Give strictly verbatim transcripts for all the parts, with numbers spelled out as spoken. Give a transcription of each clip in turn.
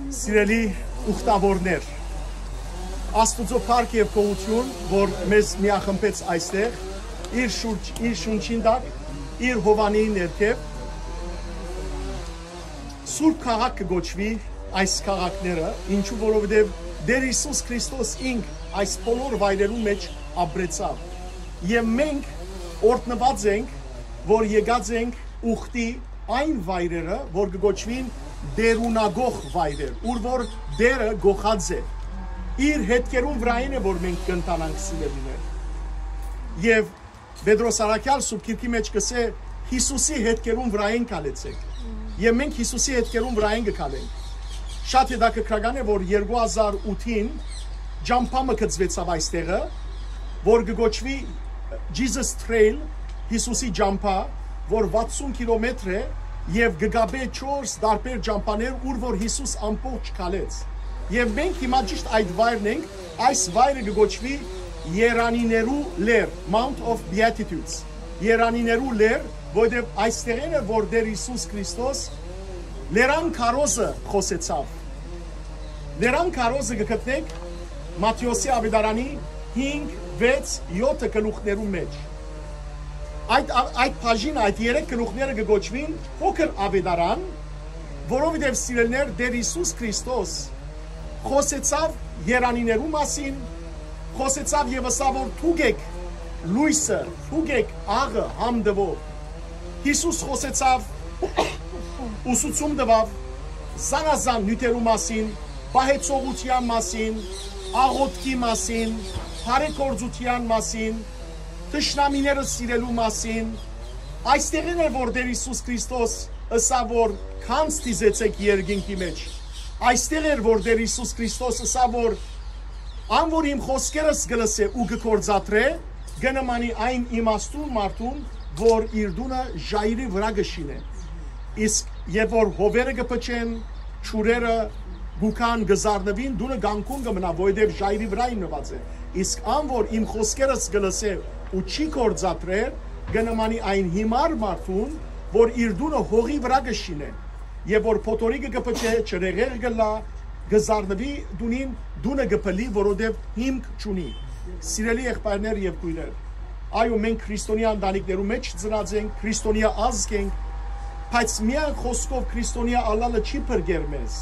Սիրելի ուխտավորներ, Աստուծոյ փառք եւ գոհութիւն, որ մեզ միախմբեց այստեղ, իր շուրջ, իր շունչին տակ, իր հովանի ներքեւ։ Սուրբ քաղաք կը կոչուի այս քաղաքները, ինչու որովհետեւ Տէր Յիսուս Քրիստոս ինք այս բոլոր վայրերուն մէջ ապրեցաւ։ Եւ մենք օրհնուած ենք, որ եկած ենք ուխտի այն վայրերը, որ կը կոչուին տէրունակող վայրեր, ուր որ Տէրը կոխած է։ Իր հետքերուն վրայէն է, որ մենք կ'ընթանանք, սիրելիներ։ Եւ Պետրոս Առաքեալ Սուրբ Գիրքի մէջ կ'ըսէ. «Յիսուսի հետքերուն վրայէն քալեցէք»։ Եւ մենք Յիսուսի հետքերուն վրայէն կը քալենք։ Շատ հետաքրքրական է, որ երկու հազար ութին ճամբայ մը գծուեցաւ այստեղը, որ կը կոչուի Jesus Trail, Յիսուսի ճամբայ, որ վաթսուն կիլոմեթր է եւ կը կապէ չորս տարբեր ճամբաներ, ուր որ Յիսուս ամբողջ քալեց։ Եւ մենք հիմա ճիշդ այդ վայրն ենք, այս վայրը կը կոչուի Երանիներու լեռ, Mount of Beatitudes, Երանիներու լեռ, որտեղ այստեղէն է, որ Տէր Յիսուս Քրիստոս լերան քարոզը խօսեցաւ։ Լերան քարոզը կը գտնենք Մատթէոսի աւետարանի հինգ, վեց, եօթը գլուխներուն մէջ։ Այդ, այդ բաժինը, այդ երեք գլուխները կը կոչուին փոքր աւետարան, որովհետեւ, սիրելիներ, Տէր Յիսուս Քրիստոս խօսեցաւ Երանիներու մասին, խօսեցաւ եւ ըսաւ, որ դուք էք լոյսը, դուք էք աղը համ տուող։ Յիսուս խօսեցաւ, ուսուցում տուաւ զանազան նիւթերու մասին, պահեցողութեան մասին, աղօթքի մասին, բարեգործութեան մասին, թշնամիները սիրելու մասին։ Այստեղէն էր, որ Տէր Յիսուս Քրիստոս ըսաւ, որ «Գանձ դիզեցէք երկինքի մէջ»։ Այստեղ էր, որ Տէր Յիսուս Քրիստոս ըսաւ, որ «Ան որ իմ խօսքերս կը լսէ ու կը գործադրէ, կը նմանի այն իմաստուն մարդուն, որ իր տունը ժայռի վրայ կը շինէ։ Իսկ երբ որ հովերը կը փչեն, ջուրերը կու գան, կը զարնուին, տունը կանգուն կը մնայ, որովհետեւ ժայռի վրայ հիմնուած է։ Իսկ ան որ իմ խօսքերս կը լսէ ու չի գործադրեր, կը նմանի այն յիմար մարդուն, որ իր տունը հողի վրայ կը շինէ, եւ որ փոթորիկը կը փչէ, ջրհեղեղ կ'ըլլայ, կը զարնուի տունին, տունը կը փլլի, որովհետեւ հիմք չունի»։ Սիրելի եղբայրներ եւ քոյրեր, այո, մենք քրիստոնեայ ընտանիքներու մէջ ծնած ենք, քրիստոնեայ ազգ ենք, բայց միայն խօսքով քրիստոնեայ ըլլալը չի փրկեր մեզ։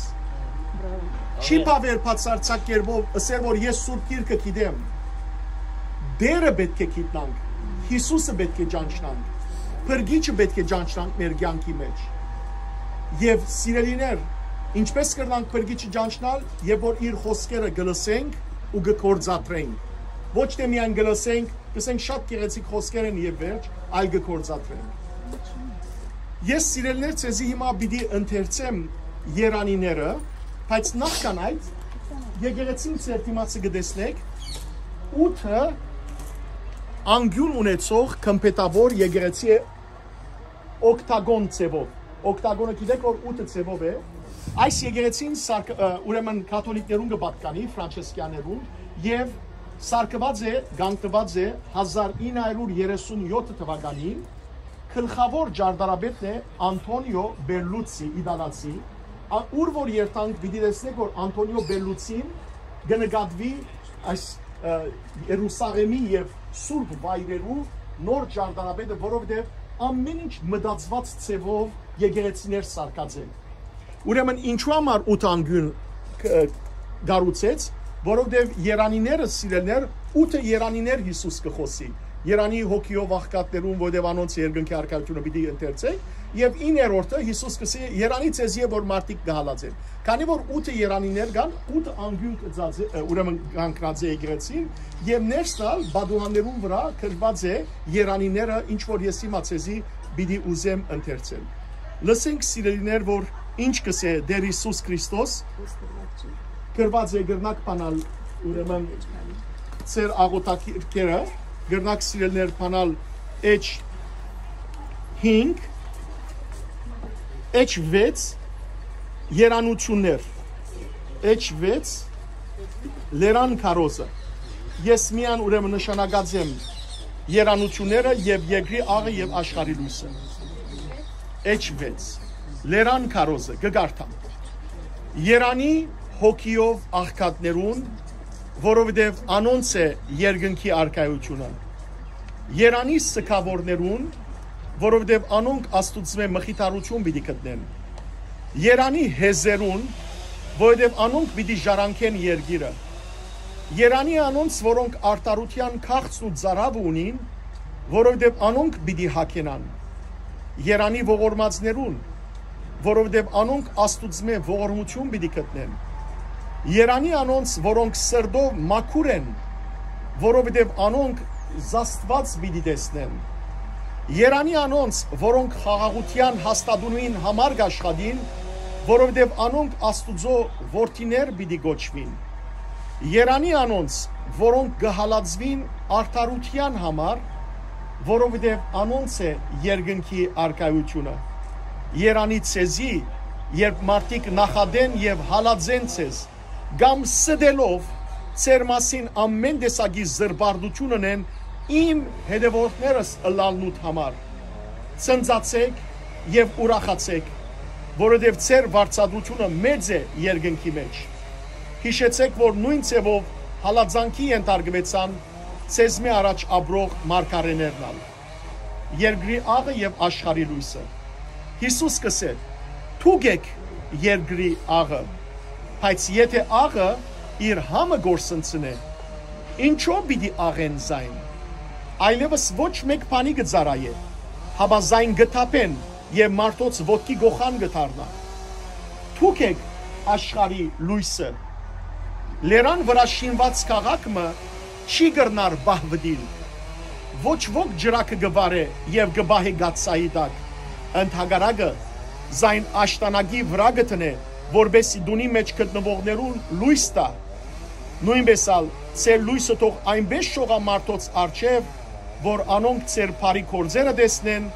Չի բաւեր բացարձակ կերպով ըսել, որ ես Սուրբ Գիրքը գիտեմ։ Տէրը պէտք է գիտնանք, Յիսուսը պէտք է ճանչնանք, Փրկիչը պէտք է ճանչնանք մեր կեանքի մէջ։ Եւ, սիրելիներ, ինչպէս կրնանք Փրկիչը ճանչնալ, երբ որ իր խօսքերը կը լսենք ու կը գործադրենք։ Ոչ թէ միայն կը լսենք, կ'ըսենք, շատ գեղեցիկ խօսքեր են եւ վերջ, այլ կը գործադրենք։ Ես, սիրելիներ, ձեզի հիմա պիտի ընթերցեմ Երանիները, բայց նախքան այդ, եկեղեցին ձեր դիմացը կը տեսնեք, ութը անկիւն ունեցող գմբեթաւոր եկեղեցի է, օկտագոն ձևով։ Օկտագոնը գիտեք, որ ութը ձևով է։ Այս եկեղեցին սարք-, ը, ուրեմն կաթոլիկներուն կը պատկանի, ֆրանչեսկյաներուն, եւ սարքուած է, կանգնուած է հազար ինը հարյուր երեսուն եօթ թվականին, գլխաւոր ճարտարապետն է Անթոնիո Պելլուցի, իտալացի, ա-, ուր որ երթանք, պիտի տեսնեք, որ Անթոնիո Պելլուցին կը նկատուի այս, ը, Երուսաղեմի եւ սուրբ վայրերու նոր ճարտարապետը, որովհետեւ ամեն ինչ մտածուած ձևով եկեղեցիներ սարքած են։ Ուրեմն ինչու համար ութ անգուն կ-, կառուցեց, որովհետեւ երանիները, սիրելիներ, ութը երանիներ Յիսուս կը խօսի։ Երանի հոգիով աղքատներուն, որովհետեւ անոնց երկնքի առաքելութիւնը պիտի ընթերցենք, եւ իններորդը Յիսուս կ'ըսի. «Երանի ձեզի է, որ մարդիկ գահալած են»։ Քանի որ ութը երանիներ կան, ութ անգուն կծած է, ը, ուրեմն կանգնած է եկեղեցին, եւ ներսն ալ պատուհաններուն վրայ գրուած է երանիները, ինչ որ ես հիմա ձեզի պիտի ուզեմ ընթերցել։ Լսենք, սիրելիներ, որ ինչ կ'ըսէ Տէր Յիսուս Քրիստոս, գրուած է, կրնակ բանալ, ուրեմն, ձեր աղօթագիրքերը, կրնակ, սիրելիներ, բանալ էջ հինգ, էջ վեց, երանութիւններ, էջ վեց, լերան քարոզը։ Ես միայն, ուրեմն, նշանակած եմ երանութիւնները եւ երկրի աղը եւ աշխարհի լոյսը։ Էջ վեց, լերան քարոզը, կը կարդամ։ Երանի հոգիով աղքատներուն, որովհետև անոնց է երկնքի արքայութիւնը։ Երանի սգաւորներուն, որովհետև անոնք Աստուծմէ մխիթարութիւն պիտի գտնեն։ Երանի հեզերուն, որովհետև անոնք պիտի ժառանգեն երկիրը։ Երանի անոնց, որոնք արդարութեան քաղցն ու ծարաւը ունին, որովհետև անոնք պիտի յագենան։ Երանի ողորմածներուն, որովհետև անոնք Աստուծմէ ողորմութիւն պիտի գտնեն։ Երանի անոնց, որոնք սրտով մաքուր են, որովհետև անոնք զաստուած պիտի տեսնեն։ Երանի անոնց, որոնք խաղաղութեան հաստատումին համար կ'աշխատին, որովհետև անոնք Աստուծոյ որդիներ պիտի կոչուին։ Երանի անոնց, որոնք կը հալածուին արդարութեան համար, որովհետև անոնց է երկնքի արքայութիւնը։ Երանի ձեզի, երբ մարդիկ նախատեն եւ հալածեն ձեզ, կամ ստելով ձեր մասին ամէն տեսակի զրպարտութիւն ընեն իմ հետեւորդներս ըլլալնուդ համար։ Ցնծացէք եւ ուրախացէք, որովհետեւ ձեր վարձատրութիւնը մեծ է երկնքի մէջ։ Յիշեցէք, որ նոյն ձեւով հալածանքի ենթարկուեցան ձեզմէ առաջ ապրող մարգարէներն ալ։ Երկրի աղը եւ աշխարհի լոյսը։ Յիսուս կ'ըսէ. «Դուք էք երկրի աղը, բայց եթէ աղը իր համը կորսնցնէ, ինչո՞վ պիտի աղեն զայն։ Այլեւս ոչ մէկ բանի կը ծառայէ, հապա զայն կը թափեն եւ մարդոց ոտքի կոխան կը դառնայ։ Դուք էք աշխարհի լոյսը։ Լերան վրայ շինուած քաղաք մը չի կրնար պահուտիլ։ Ոչ ոք ջրակը կը վառէ եւ կը պահէ կաթսայի տակ։ Ընդհակառակը, զայն աշտանակի վրայ կը դնէ, որպէսզի տունի մէջ գտնուողներուն լոյս տայ։ Նոյնպէս ալ ձեր լոյսը թող այնպէս շողայ մարդոց առջեւ, որ անոնք ձեր բարի գործերը տեսնեն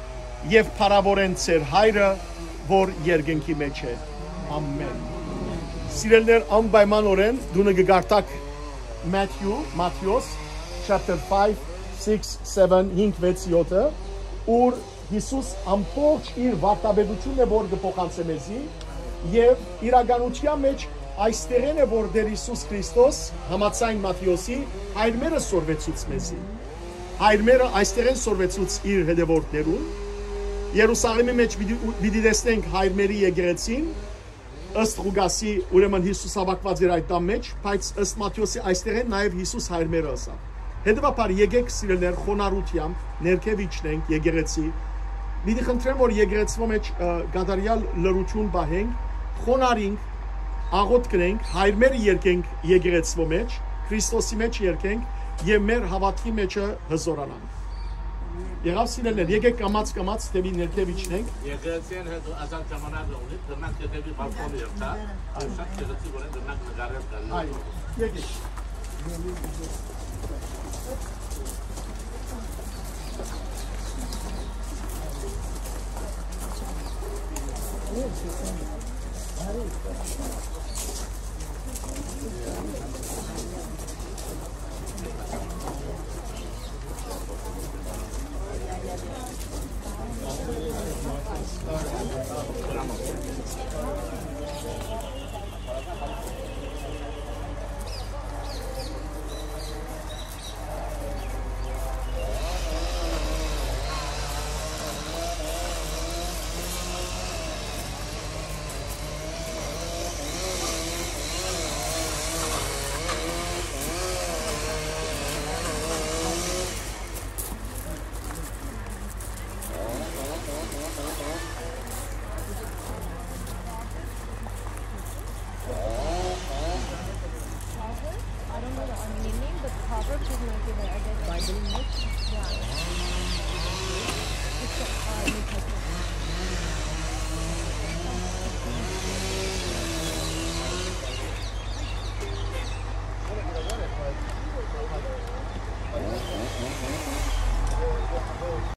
եւ փառաւորեն ձեր Հայրը, որ երկնքի մէջ է։ Ամէն»։ Սիրելիներ, անպայմանօրէն տունը կը կարդաք Մաթիու, Մատթէոս, chapter five, six, seven, հինգ, վեց, յոթը, ուր Յիսուս ամբողջ իր վարդապետութիւնն է, որ կը փոխանցէ մեզի, եւ իրականութեան մէջ այստեղէն է, որ Տէր Յիսուս Քրիստոս, համաձայն Մատթէոսի, հայրմերը սորվեցուց մեզի։ Հայրմերը այստեղէն սորվեցուց իր հետեւորդներուն։ Երուսաղէմի մէջ պիտի, պիտի տեսնենք հայրմերի եկեղեցին, ըստ Ղուկասի, ուրեմն Յիսուս հաւաքուած էր այդ տան մէջ, բայց ըստ Մատթէոսի այստեղէն նաեւ Յիսուս հայրմերը ըսաւ։ Հետեւաբար եկէք, սիրելիներ, խոնարհութեամբ ներքեւ իջնենք եկեղեցի։ Պիտի խնդրեմ, որ եկեղեցւոյ մէջ, ը, կատարեալ լռութիւն պահենք, խոնարհինք, աղօթք կրենք, հայրմերը երգենք եկեղեցւոյ մէջ, Քրիստոսի մէջ երգենք եւ մեր հաւատքի մէջը հզորանանք։ Եղա՞վ, սիրելիներ, եկէք կամաց կամաց դէպի ներքեւ իջնենք։ Եկեղեցին հետ ազատ ժամանակ ունի, կրնանք դէպի բալկոնը երթալ, շատ գեղեցիկ օրէն կրնանք նկարել տալ։ Այո, եկեք։ Proverbs? I don't know the Armenian name, but Proverbs is like the, I guess, Bible in it? Yeah. It's a, uh, New Testament.